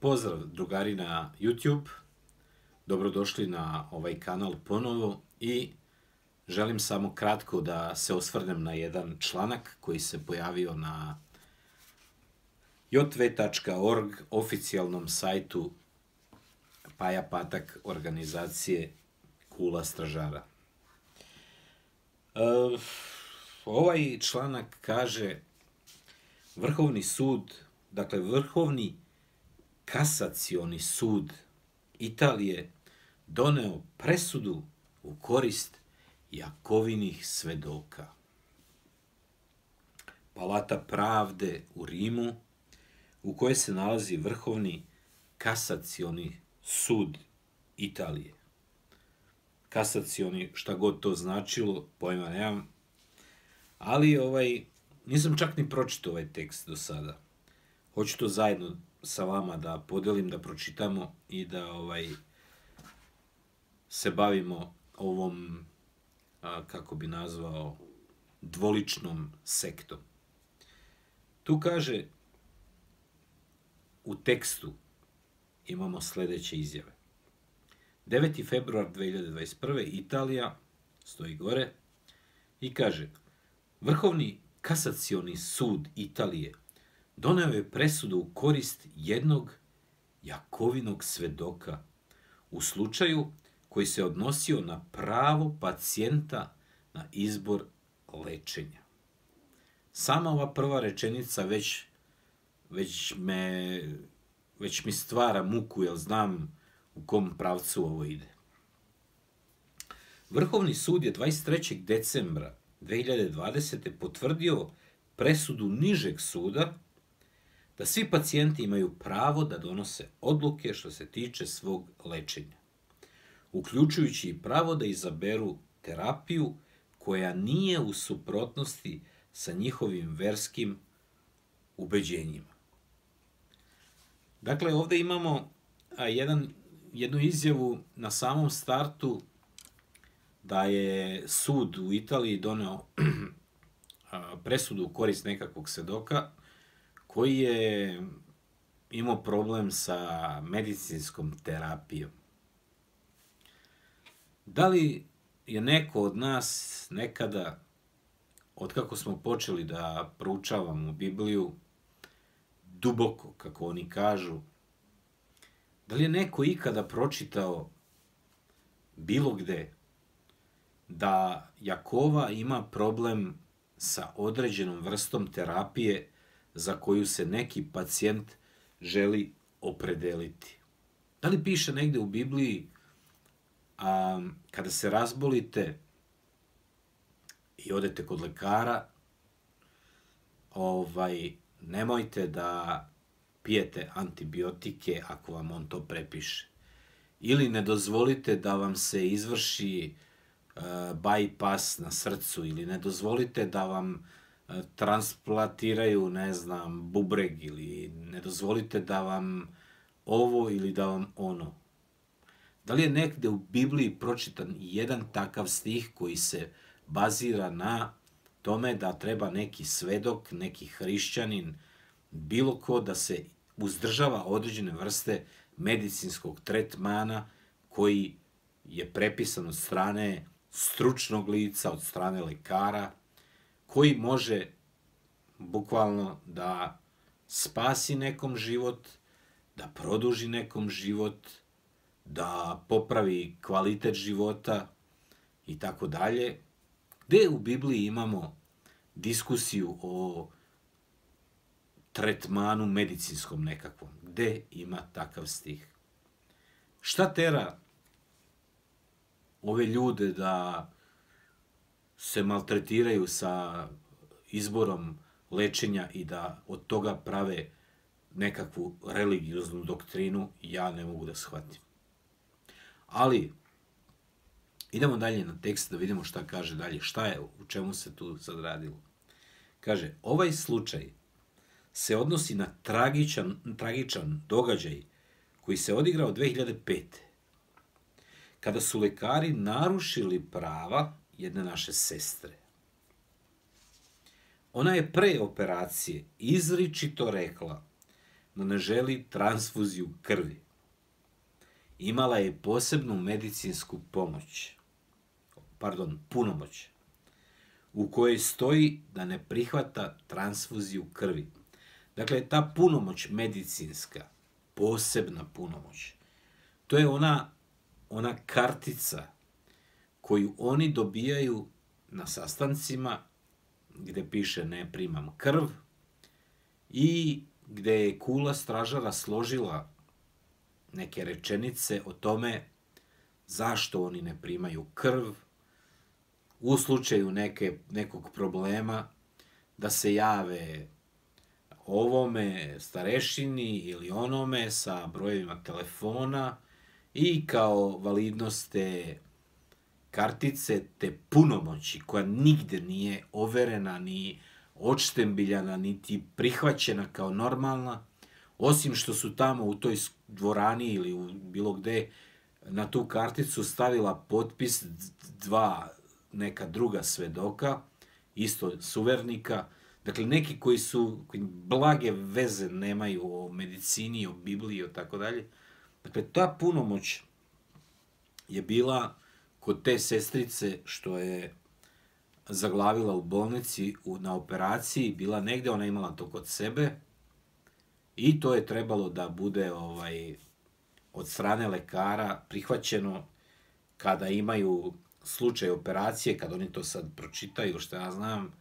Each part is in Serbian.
Pozdrav drugari na YouTube, dobrodošli na ovaj kanal ponovo i želim samo kratko da se osvrnem na jedan članak koji se pojavio na jv.org oficijalnom sajtu Paja Patak organizacije Kula stražara. Ovaj članak kaže Vrhovni sud, dakle Vrhovni kasacioni sud Italije doneo presudu u korist Jakovinih svedoka. Palata pravde u Rimu, u kojoj se nalazi Vrhovni kasacioni sud Italije. Kasacioni, šta god to značilo, pojma nemam, ali nisam čak ni pročitao ovaj tekst do sada. Hoću to zajedno sa vama da podelim, da pročitamo i da se bavimo ovom, kako bi nazvao, dvoličnom sektom. Tu kaže, u tekstu imamo sledeće izjave. 9. februar 2021. Italija, stoji gore, i kaže Vrhovni kasacioni sud Italije doneo je presudu u korist jednog Jakovinog svedoka u slučaju koji se odnosio na pravo pacijenta na izbor lečenja. Sama ova prva rečenica već mi stvara muku, jer znam u kom pravcu ovo ide. Vrhovni sud je 23. decembra 2020. potvrdio presudu nižeg suda da svi pacijenti imaju pravo da donose odluke što se tiče svog lečenja, uključujući i pravo da izaberu terapiju koja nije u suprotnosti sa njihovim verskim ubeđenjima. Dakle, ovde imamo jednu izjavu na samom startu da je sud u Italiji doneo presudu u korist nekakvog svedoka koji je imao problem sa medicinskom terapijom. Da li je neko od nas nekada, otkako smo počeli da proučavamo Bibliju, duboko, kako oni kažu, da li je neko ikada pročitao bilo gde da Jakova ima problem sa određenom vrstom terapije za koju se neki pacijent želi opredeliti? Da li piše negde u Bibliji kada se razbolite i odete kod lekara, nemojte da pijete antibiotike ako vam on to prepiše. Ili ne dozvolite da vam se izvrši bypass na srcu, ili ne dozvolite da vam transplantiraju, ne znam, bubreg, ili ne dozvolite da vam ovo ili da vam ono. Da li je negde u Bibliji pročitan jedan takav stih koji se bazira na tome da treba neki svedok, neki hrišćanin, bilo ko da se uzdržava određene vrste medicinskog tretmana koji je prepisan od strane stručnog lica, od strane lekara, koji može bukvalno da spasi nekom život, da produži nekom život, da popravi kvalitet života i tako dalje. Gde u Bibliji imamo diskusiju o tretmanu medicinskom nekakvom? Gde ima takav stih? Šta tera ove ljude da se maltretiraju sa izborom lečenja i da od toga prave nekakvu religioznu doktrinu? Ja ne mogu da shvatim. Ali, idemo dalje na tekst da vidimo šta kaže dalje. Šta je, u čemu se tu sad radilo? Kaže, ovaj slučaj se odnosi na tragičan događaj koji se odigrao 2005. kada su lekari narušili prava jedne naše sestre. Ona je pre operacije izričito rekla no ne želi transfuziju krvi. Imala je posebnu medicinsku punomoć, u kojoj stoji da ne prihvata transfuziju krvi. Dakle, ta punomoć medicinska, posebna punomoć, to je ona kartica koju oni dobijaju na sastancima gde piše ne primam krv i gde je kula stražara složila neke rečenice o tome zašto oni ne primaju krv, u slučaju nekog problema da se jave ovome starešini ili onome sa brojevima telefona i kao validnost te kartice, te punomoći koja nigde nije overena, ni odštembiljana, niti prihvaćena kao normalna, osim što su tamo u toj dvorani ili u bilo gde na tu karticu stavila potpis dva neka druga svedoka, isto suvernika, dakle neki koji blage veze nemaju o medicini, o Bibliji, o tako dalje. Dakle, ta punomoć je bila kod te sestrice što je zaglavila u bolnici na operaciji, bila negde, ona imala to kod sebe i to je trebalo da bude od strane lekara prihvaćeno kada imaju slučaj operacije, kad oni to sad pročitaju, što ja znam,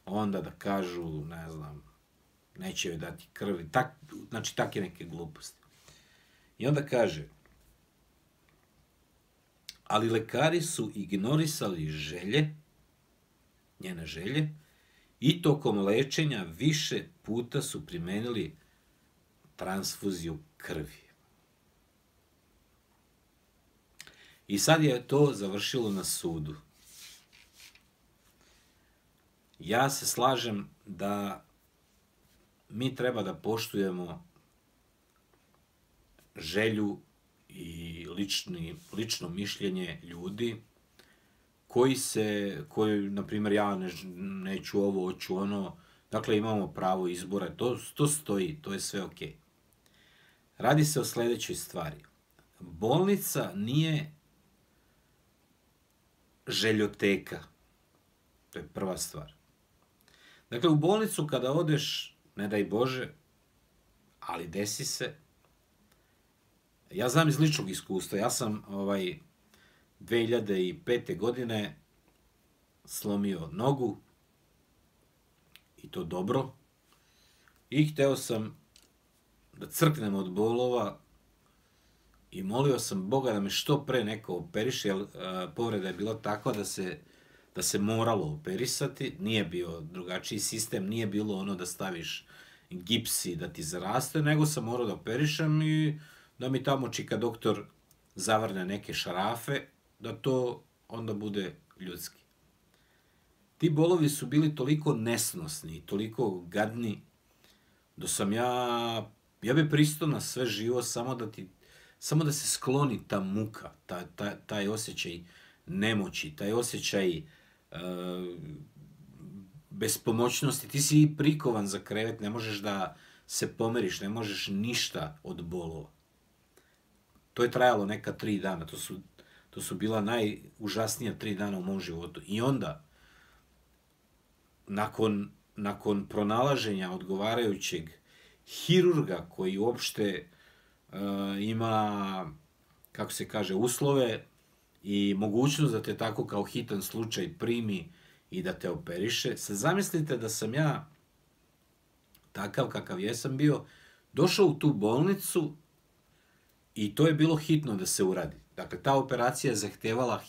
onda da kažu, ne znam, neće joj dati krvi, znači takve neke gluposti. I onda kaže, ali lekari su ignorisali njene želje, i tokom lečenja više puta su primenili transfuziju krvi. I sad je to završilo na sudu. Ja se slažem da mi treba da poštujemo želju i lično mišljenje ljudi koji, na primjer, ja neću ovo, hoću ono, dakle imamo pravo izbora, to stoji, to je sve okej. Radi se o sledećoj stvari. Bolnica nije željoteka, to je prva stvar. Dakle, u bolnicu kada odeš, ne daj Bože, ali desi se, ja znam iz ličnog iskustva, ja sam 2005. godine slomio nogu, i to dobro, i hteo sam da crknem od bolova i molio sam Boga da me što pre neko operiše, jer povreda je bila takva da se moralo operisati, nije bio drugačiji sistem, nije bilo ono da staviš gips i da ti zaraste, nego sam morao da operišem i da mi tamo čika doktor zavrne neke šarafe, da to onda bude ljudski. Ti bolovi su bili toliko nesnosni, toliko gadni, da sam ja bi pristao na sve živo, samo da se skloni ta muka, taj osjećaj nemoći, taj osjećaj bespomoćnosti. Ti si prikovan za krevet, ne možeš da se pomeriš, ne možeš ništa od bolova. To je trajalo neka 3 dana, to su bila najužasnija 3 dana u mom životu. I onda, nakon pronalaženja odgovarajućeg hirurga koji uopšte ima, kako se kaže, uslove i mogućnost da te tako kao hitan slučaj primi i da te operiše, sad zamislite da sam ja, takav kakav jesam bio, došao u tu bolnicu i to je bilo hitno da se uradi. Dakle, ta operacija je zahtevala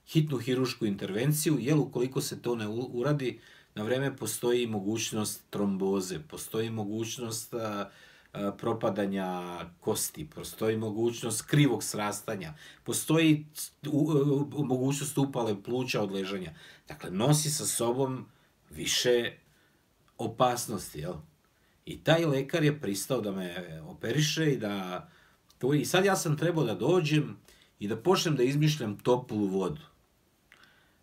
hitnu hirušku intervenciju, jer ukoliko se to ne uradi, na vreme postoji mogućnost tromboze, postoji mogućnost propadanja kosti, postoji mogućnost krivog srastanja, postoji mogućnost upale pluća od ležanja. Dakle, nosi sa sobom više opasnosti, jel? I taj lekar je pristao da me operiše i sad ja sam trebao da dođem i da počnem da izmišljam toplu vodu.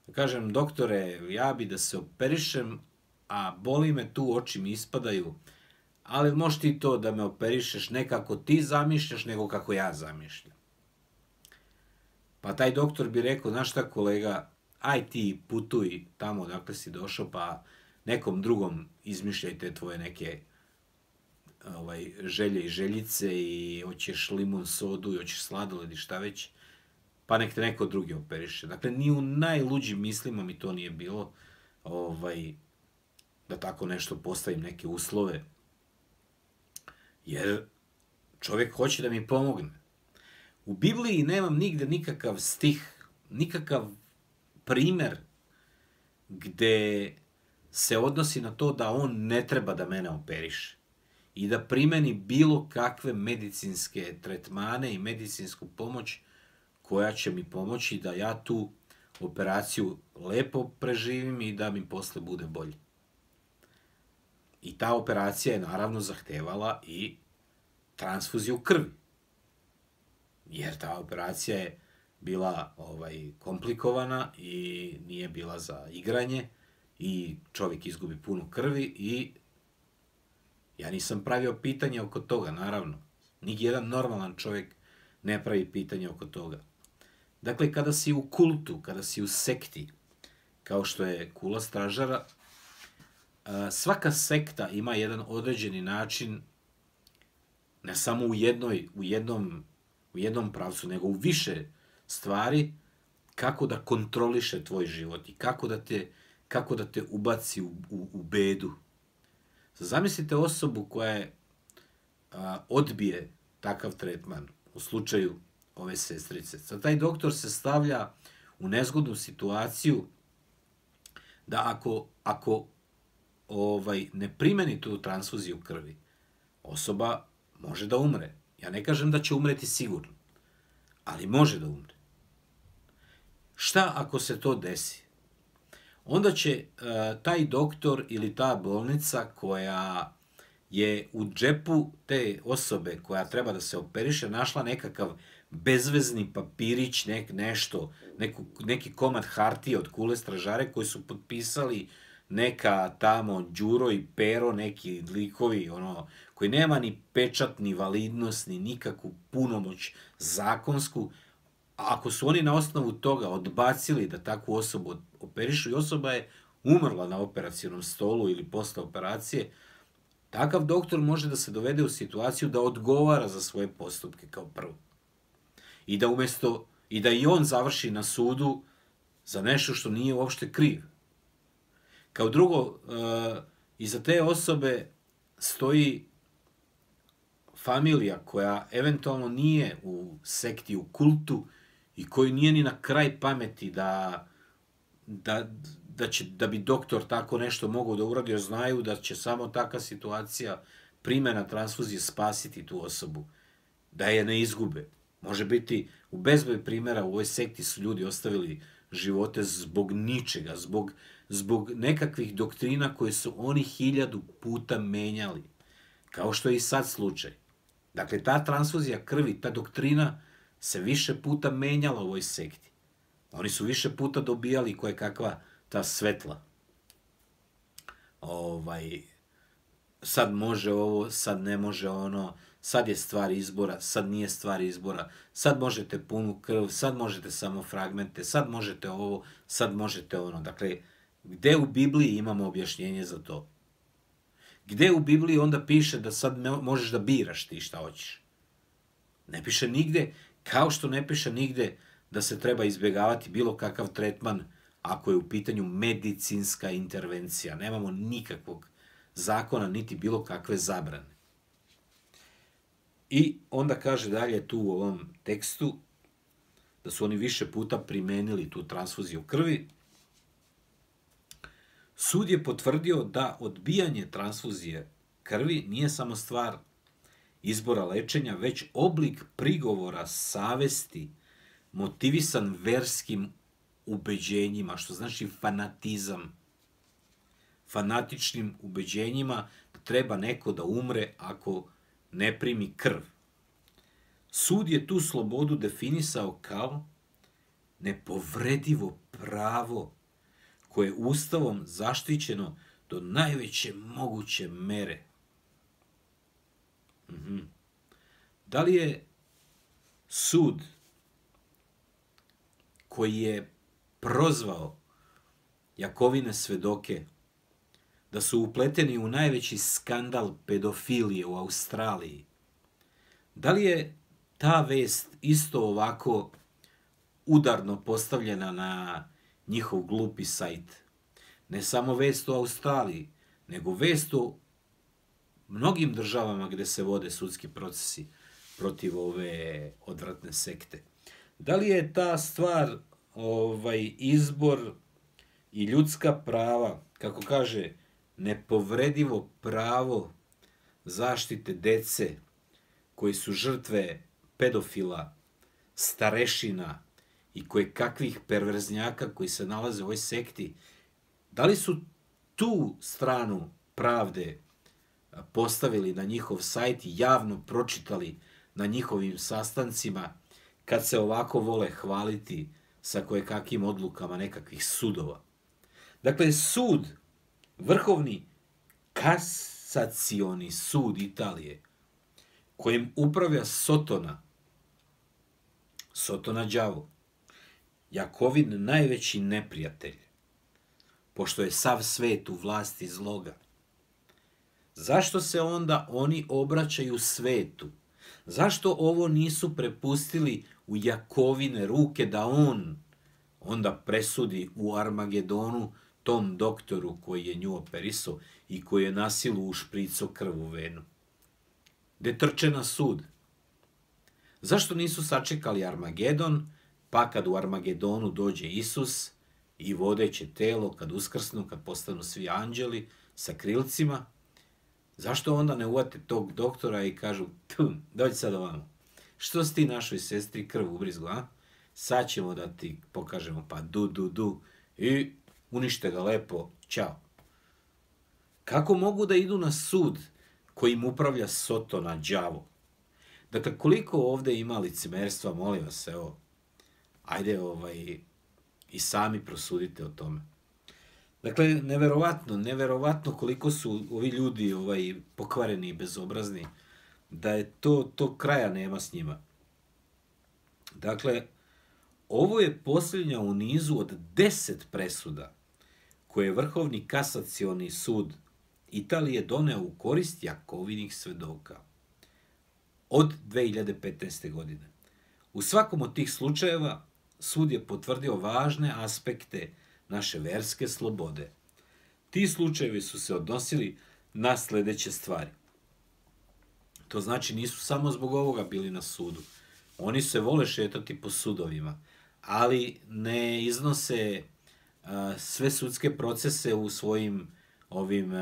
Da kažem, doktore, ja bi da se operišem, a boli me tu, oči mi ispadaju, ali možeš ti to da me operišeš ne kako ti zamišljaš, nego kako ja zamišljam. Pa taj doktor bi rekao, znaš šta kolega, aj ti putuj tamo odakle si došao, pa nekom drugom izmišljaj te tvoje neke želje i željice i hoćeš limun sodu i hoćeš sladoled i šta već, pa nek te neko drugi operiše. Dakle, ni u najluđim mislima mi to nije bilo da tako nešto postavim neke uslove, jer čovjek hoće da mi pomogne. U Bibliji nemam nigde nikakav stih, nikakav primer gde se odnosi na to da on ne treba da mene operiše i da primeni bilo kakve medicinske tretmane i medicinsku pomoć koja će mi pomoći da ja tu operaciju lepo preživim i da mi posle bude bolje. I ta operacija je naravno zahtevala i transfuziju krvi. Jer ta operacija je bila komplikovana i nije bila za igranje i čovjek izgubi puno krvi i ja nisam pravio pitanje oko toga, naravno. Nijedan normalan čovjek ne pravi pitanje oko toga. Dakle, kada si u kultu, kada si u sekti, kao što je Kula stražara, svaka sekta ima jedan određeni način, ne samo u jednom pravcu, nego u više stvari, kako da kontroliše tvoj život i kako da te ubaci u bedu. Zamislite osobu koja odbije takav tretman u slučaju ove sestrice. Sad taj doktor se stavlja u nezgodnu situaciju da ako ne primeni tu transfuziju krvi, osoba može da umre. Ja ne kažem da će umreti sigurno, ali može da umre. Šta ako se to desi? Onda će taj doktor ili ta bolnica koja je u džepu te osobe koja treba da se operiše našla nekakav bezvezni papirić, neki komad hartije od Kule stražare koji su potpisali neka tamo Đuro i Pero, neki likovi, koji nema ni pečat, ni validnost, ni nikakvu punomoć zakonsku. A ako su oni na osnovu toga odbacili da takvu osobu operišu i osoba je umrla na operacionom stolu ili posle operacije, takav doktor može da se dovede u situaciju da odgovara za svoje postupke kao prvo. I da i on završi na sudu za nešto što nije uopšte kriv. Kao drugo, iza te osobe stoji familija koja eventualno nije u sekti, u kultu i koji nije ni na kraj pameti da bi doktor tako nešto mogao da uradi, jer znaju da će samo takva situacija, primjena transfuzije, spasiti tu osobu, da je ne izgube. Može biti u bezbroj primjera u ovoj sekti su ljudi ostavili živote zbog ničega, zbog nekakvih doktrina koje su oni 1000 puta menjali, kao što je i sad slučaj. Dakle, ta transfuzija krvi, ta doktrina se više puta menjala u ovoj sekti. Oni su više puta dobijali koje kakva ta svetla. Sad može ovo, sad ne može ono, sad je stvar izbora, sad nije stvar izbora, sad možete punu krv, sad možete samo fragmente, sad možete ovo, sad možete ono. Dakle, gde u Bibliji imamo objašnjenje za to? Gde u Bibliji onda piše da sad možeš da biraš ti šta hoćeš? Ne piše nigde, kao što ne piše nigde da se treba izbjegavati bilo kakav tretman ako je u pitanju medicinska intervencija. Nemamo nikakvog zakona, niti bilo kakve zabrane. I onda kaže dalje tu u ovom tekstu da su oni više puta primenili tu transfuziju krvi. Sud je potvrdio da odbijanje transfuzije krvi nije samo stvar izbora lečenja, već oblik prigovora savesti motivisan verskim ubeđenjima, što znači fanatizam. Fanatičnim ubeđenjima da treba neko da umre ako ne primi krv. Sud je tu slobodu definisao kao nepovredivo pravo koje je Ustavom zaštićeno do najveće moguće mere. Da li je sud koji je prozvao Jakovine svedoke da su upleteni u najveći skandal pedofilije u Australiji, da li je ta vest isto ovako udarno postavljena na njihov glupi sajt? Ne samo vest o Australiji, nego vest o mnogim državama gde se vode sudski procesi protiv ove odvratne sekte. Da li je ta stvar izbor i ljudska prava, kako kaže, nepovredivo pravo zaštite dece koji su žrtve pedofila, starešina i kakvih perverznjaka koji se nalaze u ovoj sekti, da li su tu stranu pravde postavili na njihov sajt i javno pročitali na njihovim sastancima kad se ovako vole hvaliti sa kojekakvim odlukama nekakvih sudova? Dakle, sud, Vrhovni kasacioni sud Italije, kojim upravlja Sotona đavo, Jakovin najveći neprijatelj, pošto je sav svet u vlasti zloga. Zašto se onda oni obraćaju svetu? Zašto ovo nisu prepustili u Jakovine ruke da on onda presudi u Armagedonu tom doktoru koji je nju operisao i koji je na silu ušpricao krv u venu? Gde trče na sud? Zašto nisu sačekali Armagedon, pa kad u Armagedonu dođe Isus i vodeće telo, kad uskrsnu, kad postanu svi anđeli sa krilcima, zašto onda ne uvate tog doktora i kažu, dođi sad ovamo, što si ti našoj sestri krv ubrizgo, a? Sad ćemo da ti pokažemo, pa du, i unište ga lepo, ćao. Kako mogu da idu na sud kojim upravlja Sotona đavo? Dakle, koliko ovde ima licemerstva, molim vas, evo, ajde i sami prosudite o tome. Dakle, neverovatno koliko su ovi ljudi pokvareni i bezobrazni, da je to kraja nema s njima. Dakle, ovo je posljednja u nizu od 10 presuda koje je Vrhovni kasacioni sud Italije doneo u korist Jakovinih svedoka od 2015. godine. U svakom od tih slučajeva sud je potvrdio važne aspekte naše verske slobode. Ti slučajevi su se odnosili na sledeće stvari. To znači nisu samo zbog ovoga bili na sudu. Oni se vole šetati po sudovima, ali ne iznose sve sudske procese u svojim ovim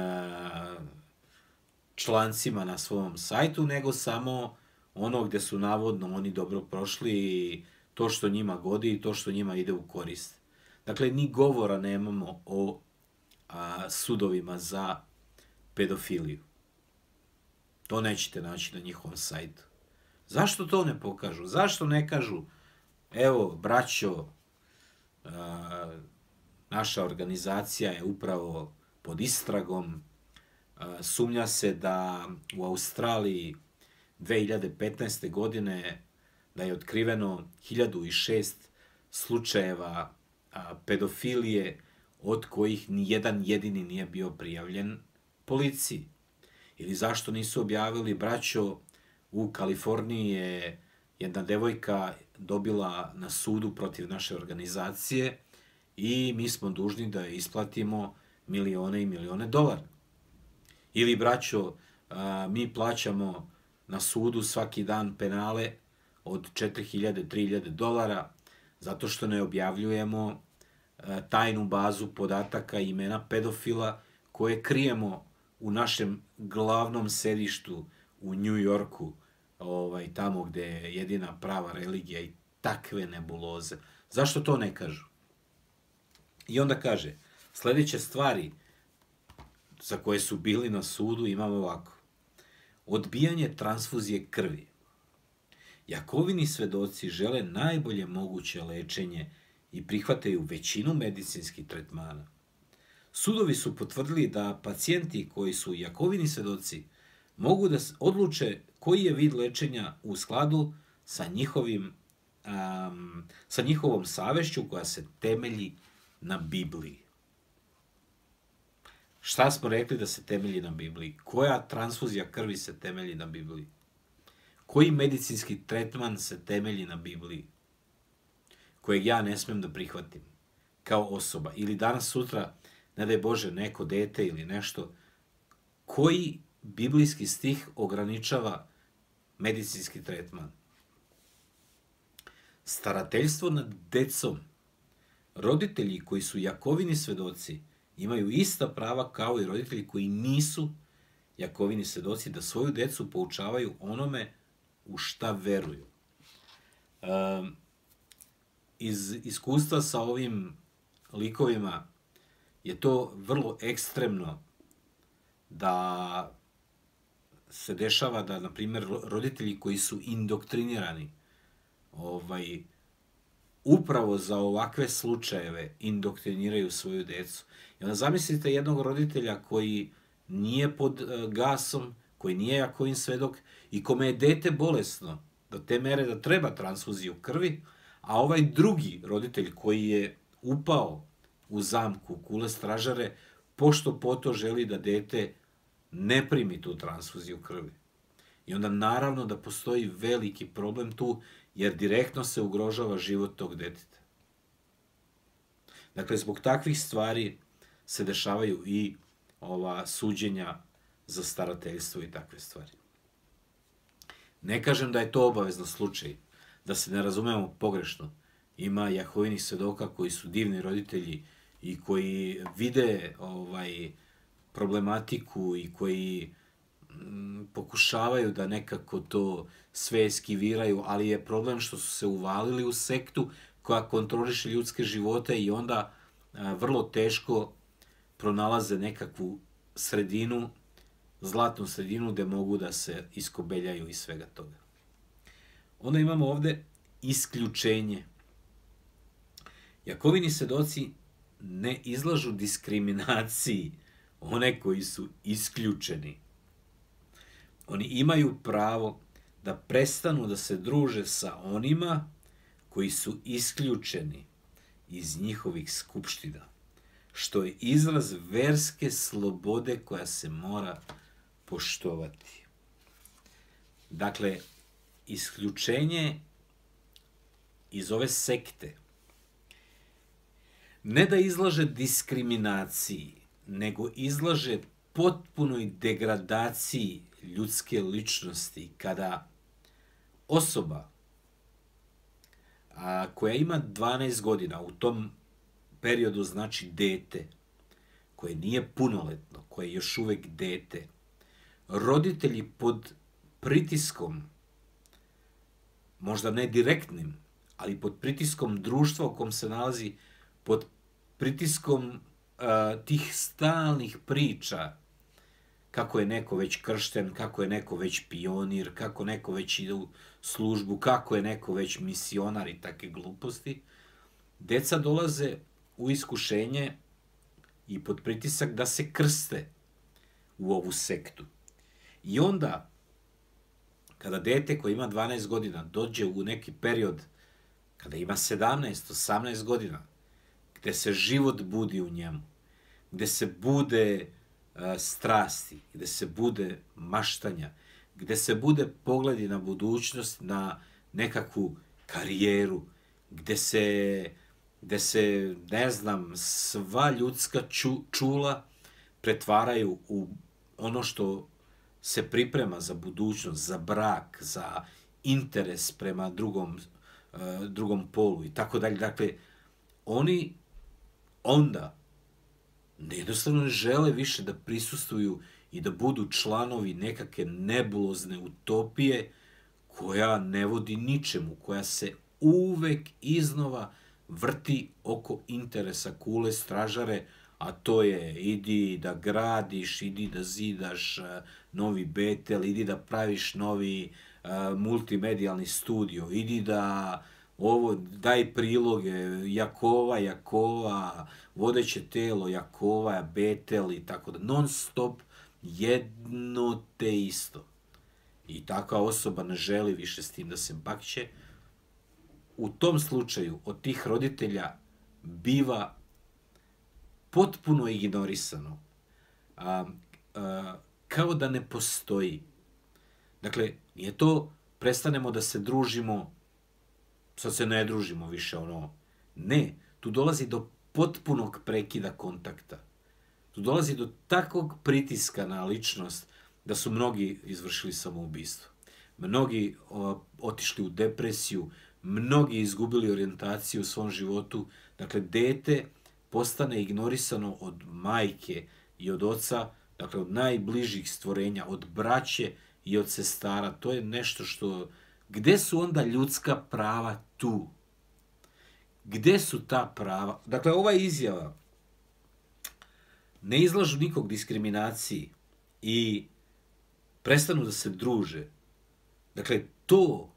člancima na svom sajtu, nego samo ono gde su navodno oni dobro prošli i to što njima godi i to što njima ide u korist. Dakle, ni govora nemamo o sudovima za pedofiliju. To nećete naći na njihovom sajtu. Zašto to ne pokažu? Zašto ne kažu, evo, braćo, naša organizacija je upravo pod istragom, sumnja se da u Australiji 2015. godine da je otkriveno 1006 slučajeva pedofilije, od kojih ni jedan jedini nije bio prijavljen policiji. Ili zašto nisu objavili, braćo, u Kaliforniji je jedna devojka dobila na sudu protiv naše organizacije i mi smo dužni da je isplatimo milione i milione dolara. Ili, braćo, mi plaćamo na sudu svaki dan penale od 4.000, 3.000 dolara zato što ne objavljujemo tajnu bazu podataka imena pedofila koje krijemo u našem glavnom sedištu u New Yorku, tamo gde je jedina prava religija i takve nebuloze. Zašto to ne kažu? I onda kaže, sledeće stvari za koje su bili na sudu imamo ovako. Odbijanje transfuzije krvi. Jakovini svedoci žele najbolje moguće lečenje i prihvataju većinu medicinskih tretmana. Sudovi su potvrdili da pacijenti koji su Jakovini svedoci mogu da odluče koji je vid lečenja u skladu sa njihovom savešću koja se temelji na Bibliji. Šta smo rekli da se temelji na Bibliji? Koja transfuzija krvi se temelji na Bibliji? Koji medicinski tretman se temelji na Bibliji? Kojeg ja ne smem da prihvatim kao osoba. Ili danas, sutra, ne daj Bože, neko dete ili nešto. Koji biblijski stih ograničava medicinski tretman? Starateljstvo nad decom. Roditelji koji su Jakovini svedoci imaju ista prava kao i roditelji koji nisu Jakovini svedoci, da svoju decu poučavaju onome u šta veruju. Iz iskustva sa ovim likovima je to vrlo ekstremno da se dešava da, na primjer, roditelji koji su indoktrinirani upravo za ovakve slučajeve indoktriniraju svoju decu. I onda zamislite jednog roditelja koji nije pod gasom, koji nije Jakovin svedok i kome je dete bolesno do te mere da treba transfuziju krvi, a ovaj drugi roditelj koji je upao u zamku kule stražare, pošto poto želi da dete ne primi tu transfuziju krvi. I onda naravno da postoji veliki problem tu, jer direktno se ugrožava život tog deteta. Dakle, zbog takvih stvari se dešavaju i ova suđenja za starateljstvo i takve stvari. Ne kažem da je to obavezno slučaj, da se ne razumemo pogrešno. Ima Jahovinih svedoka koji su divni roditelji i koji vide problematiku i koji pokušavaju da nekako to sve eskiviraju, ali je problem što su se uvalili u sektu koja kontroliše ljudske živote i onda vrlo teško pronalaze nekakvu sredinu, zlatnu sredinu gde mogu da se iskobeljaju iz svega toga. Onda imamo ovde isključenje. Jakovini svedoci ne izlažu diskriminaciji one koji su isključeni. Oni imaju pravo da prestanu da se druže sa onima koji su isključeni iz njihovih skupština, što je izraz verske slobode koja se mora poštovati. Dakle, isključenje iz ove sekte ne da izlaže diskriminaciji, nego izlaže potpunoj degradaciji ljudske ličnosti, kada osoba koja ima 12 godina, u tom periodu znači dete, koje nije punoletno, koje je još uvek dete, roditelji pod pritiskom, možda ne direktnim, ali pod pritiskom društva u kom se nalazi, pod pritiskom tih stalnih priča, kako je neko već kršten, kako je neko već pionir, kako neko već ide u službu, kako je neko već misionar i takve gluposti, deca dolaze u iskušenje i pod pritisak da se krste u ovu sektu. I onda, kada dete koje ima 12 godina dođe u neki period, kada ima 17, 18 godina, gde se život budi u njemu, gde se bude strasti, gde se bude maštanja, gde se bude pogledi na budućnost, na nekakvu karijeru, gde se, ne znam, sva ljudska čula pretvaraju u ono što se priprema za budućnost, za brak, za interes prema drugom polu i tako dalje. Dakle, oni onda jednostavno ne žele više da prisustvuju i da budu članovi nekakve nebulozne utopije koja ne vodi ničemu, koja se uvek iznova vrti oko interesa kule stražare, a to je idi da gradiš, idi da zidaš novi Betel, idi da praviš novi multimedijalni studio, idi da daj priloge, Jakova, vodeće telo, Jakova, Betel i tako da, non stop jedno te isto. i takva osoba ne želi više s tim da se bakće, u tom slučaju od tih roditelja biva potpuno ignorisano. Kao da ne postoji. Dakle, nije to prestanemo da se družimo, sad se ne družimo više, Ne, tu dolazi do potpunog prekida kontakta. Tu dolazi do takvog pritiska na ličnost da su mnogi izvršili samoubistvo. Mnogi otišli u depresiju, mnogi izgubili orijentaciju u svom životu. Dakle, dete postane ignorisano od majke i od oca, dakle, od najbližih stvorenja, od braće i od sestara. To je nešto što... Gde su onda ljudska prava tu? Gde su ta prava? Dakle, ova izjava ne izlažu nikog diskriminaciji i prestanu da se druže. Dakle, to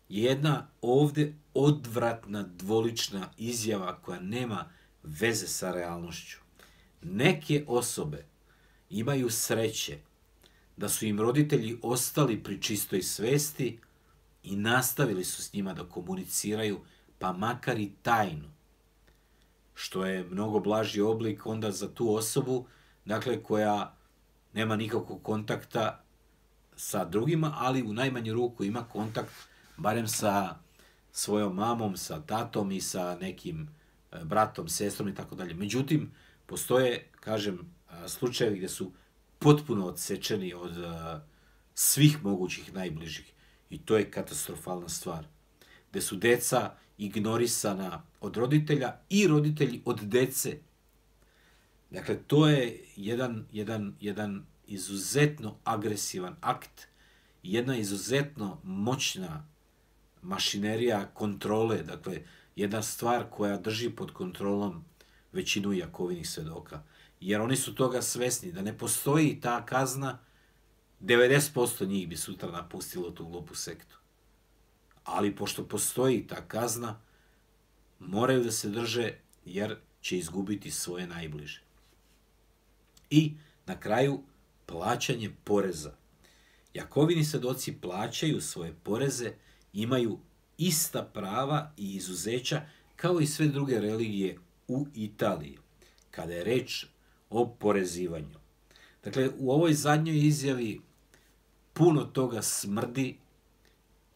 je jedna ovde odvratna, dvolična izjava koja nema veze sa realnošću. Neke osobe imaju sreće da su im roditelji ostali pri čistoj svesti i nastavili su s njima da komuniciraju, pa makar i tajno, što je mnogo blaži oblik onda za tu osobu, dakle, koja nema nikakvog kontakta sa drugima, ali u najmanju ruku ima kontakt barem sa svojom mamom, sa tatom i sa nekim bratom, sestrom i tako dalje. Međutim, postoje, kažem, slučajevi gde su potpuno odsečeni od svih mogućih najbližih. I to je katastrofalna stvar. Gde su deca ignorisana od roditelja i roditelji od dece. Dakle, to je jedan izuzetno agresivan akt, jedna izuzetno moćna mašinerija kontrole, dakle, jedna stvar koja drži pod kontrolom većinu Jakovinih svedoka. Jer oni su toga svesni, da ne postoji ta kazna, 90% njih bi sutra napustilo tu glupu sektu. Ali pošto postoji ta kazna, moraju da se drže jer će izgubiti svoje najbliže. I na kraju, plaćanje poreza. Jakovini svedoci plaćaju svoje poreze, imaju ista prava i izuzeća kao i sve druge religije u Italiji, kada je reč o porezivanju. Dakle, u ovoj zadnjoj izjavi puno toga smrdi,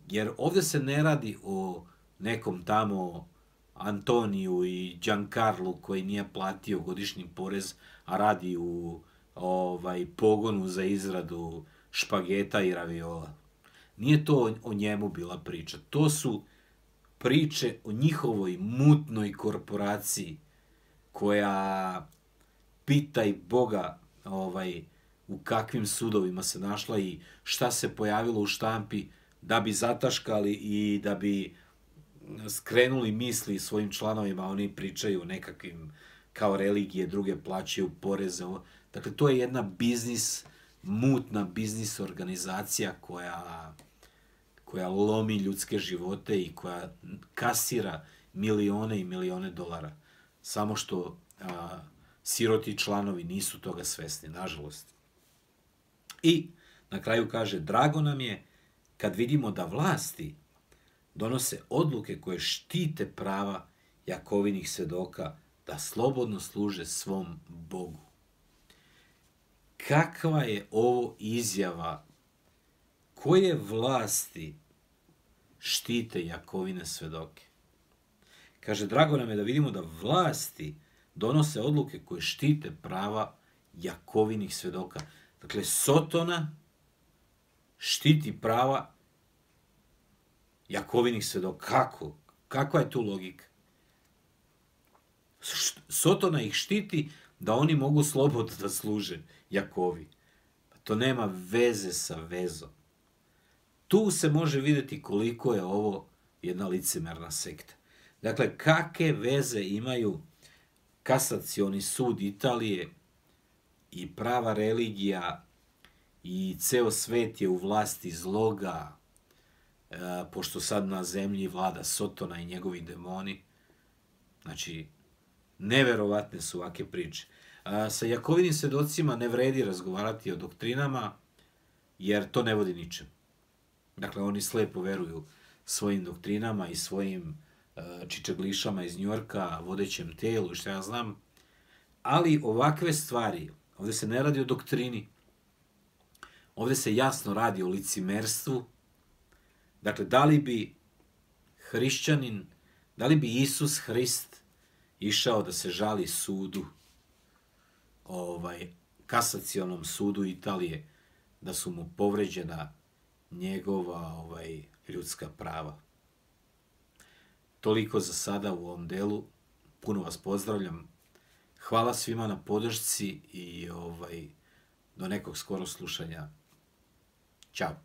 jer ovde se ne radi o nekom tamo Antoniju i Giancarlu koji nije platio godišnji porez, a radi u pogonu za izradu špageta i raviola. Nije to o njemu bila priča. To su priče o njihovoj mutnoj korporaciji koja, pitaj Boga, u kakvim sudovima se našla i šta se pojavilo u štampi da bi zataškali i da bi skrenuli misli svojim članovima. Oni pričaju o nekakvim kao religije, druge plaćaju poreze. Dakle, to je jedna mutna biznis organizacija koja lomi ljudske živote i koja kasira milione i milione dolara. Samo što siroti članovi nisu toga svesni, nažalost. I na kraju kaže, drago nam je kad vidimo da vlasti donose odluke koje štite prava Jakovinih svedoka da slobodno služe svom Bogu. Kakva je ovo izjava? Koje vlasti štite Jakovine svedoke? Kaže, drago nam je da vidimo da vlasti donose odluke koje štite prava Jakovinih svedoka. Dakle, Sotona štiti prava Jakovinih svedoka. Kako? Kakva je tu logika? Sotona ih štiti da oni mogu slobodno da služe Jakovi. To nema veze sa vezom. Tu se može vidjeti koliko je ovo jedna licemerna sekta. Dakle, kakve veze imaju kasacioni sud Italije i prava religija i ceo svet je u vlasti zloga, pošto sad na zemlji vlada Sotona i njegovi demoni. Znači, neverovatne su ovake priče. Sa Jakovinim svedocima ne vredi razgovarati o doktrinama, jer to ne vodi ničem. Dakle, oni slepo veruju svojim doktrinama i svojim čičaglišama iz Njorka, vodećem telu i šta ja znam. Ali ovakve stvari, ovdje se ne radi o doktrini, ovdje se jasno radi o licimerstvu. Dakle, da li bi hrišćanin, da li bi Isus Hrist išao da se žali sudu, kasacionom sudu Italije, da su mu povređena njegova ljudska prava. Toliko za sada u ovom delu. Puno vas pozdravljam. Hvala svima na podršci i do nekog skoro slušanja. Ćao.